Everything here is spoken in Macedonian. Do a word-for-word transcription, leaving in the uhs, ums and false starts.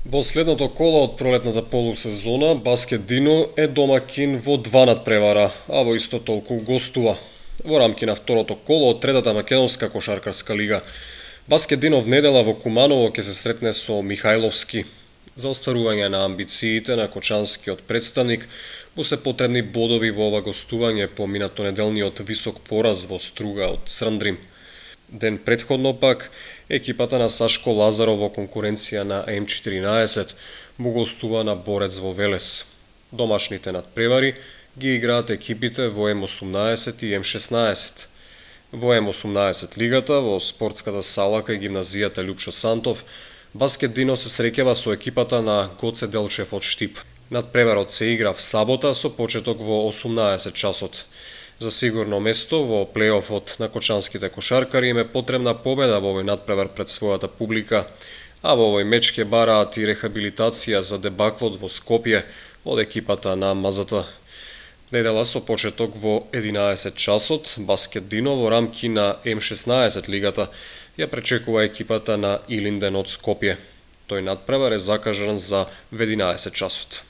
Во следното коло од пролетната полусезона, Баскет Дино е домакин во два надпревара, а во исто толку гостува. Во рамки на второто коло од третата македонска кошаркарска лига, Баскет Дино внедела во Куманово ќе се сретне со Михајловски. За остварување на амбициите на кочанскиот представник му се потребни бодови во ова гостување по минатонеделниот висок пораз во Струга од Црндрим. Ден претходно пак, екипата на Сашко Лазаров во конкуренција на М четиринаесет му гостува на Борец во Велес. Домашните надпревари ги играат екипите во М осумнаесет и М шеснаесет. Во М осумнаесет лигата, во спортската сала кај гимназијата Лјупчо Сантов, Баскет Дино се среќава со екипата на Гоце Делчев од Штип. Надпреварот се игра в сабота со почеток во осумнаесет часот. За сигурно место во плејофот на кочанските кошаркари им е потребна победа во овој надпревар пред својата публика, а во овој меч ќе бараат и рехабилитација за дебаклот во Скопје од екипата на Мазата. Недела со почеток во единаесет часот, Баскет Дино во рамки на М шеснаесет лигата ја пречекува екипата на Илинден од Скопје. Тој надпревар е закажан за единаесет часот.